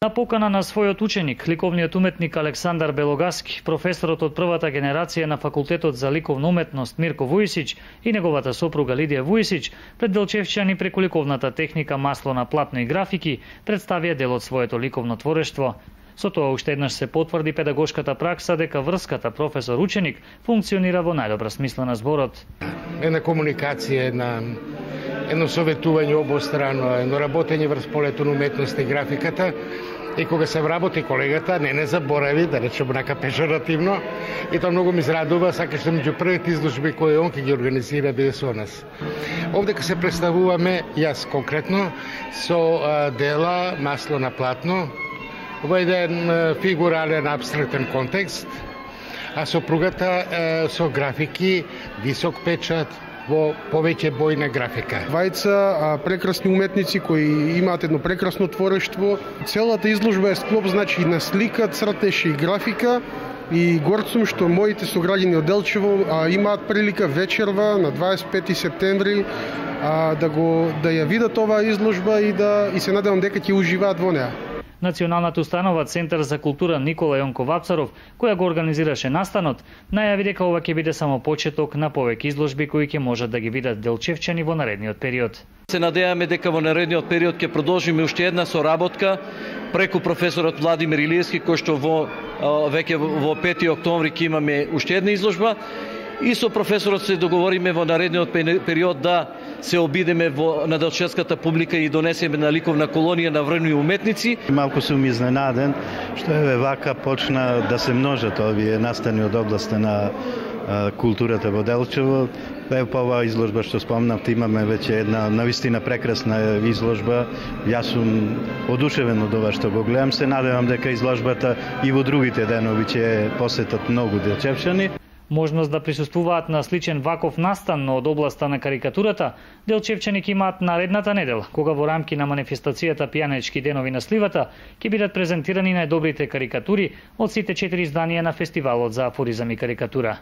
На покана на својот ученик, ликовниот уметник Александар Белогаски, професорот од првата генерација на Факултетот за ликовна уметност Мирко Вујсич и неговата сопруга Лидија Вујсич, пред делчевчани преку ликовната техника масло на платно и графики, представија дел од своето ликовно творештво. Со тоа уште еднаш се потврди педагошката пракса дека врската професор-ученик функционира во најдобра смисла на зборот. Една комуникација, едно советување обострано, едно работење врз полето на уметност и графиката. И кога се вработи колегата, не заборави, да речем нака пежоративно, и тоа многу ми израдува, сакаш да меѓу првите изложби кои он ќе ги организира биде со нас. Овде се представуваме, јас конкретно, со дела масло на платно, во еден фигурален абстрактен контекст, а сопругата со графики, висок печат, во повеќе бојна графика. Двајца прекрасни уметници кои имаат едно прекрасно творештво. Целата изложба е склоп, значи, на слика, цртеж и графика. И горд сум што моите сограѓани од Делчево имаат прилика вечерва на 25 септември да ја видат оваа изложба и се надевам дека ќе уживаат во неа. Националната установа Центар за култура Никола Јонко Вапцаров, која го организираше настанот, најави дека ова ќе биде само почеток на повеќе изложби кои ќе можат да ги видат делчевчани во наредниот период. Се надеваме дека во наредниот период ќе продолжиме уште една соработка преку професорот Владимир Илиевски, кој што веќе во 5 октомври ќе имаме уште една изложба, и со професорот се договориме во наредниот период да се обидеме на делчевската публика и донесеме на ликовна колонија на врвни уметници. Малку сум изненаден што вака почна да се множат овие настани од областа на културата во Делчево. По оваа изложба што спомнавте, имаме веќе една навистина прекрасна изложба. Јас сум одушевен од ова што го гледам. Се надевам дека изложбата и во другите денови ќе посетат многу делчевчани. Можност да присуствуваат на сличен ваков настан, но од областа на карикатурата, делчевчани ќе имаат наредната недела, кога во рамки на манифестацијата Пијанечки денови на сливата ќе бидат презентирани најдобрите карикатури од сите 4 изданија на фестивалот за афоризам и карикатура.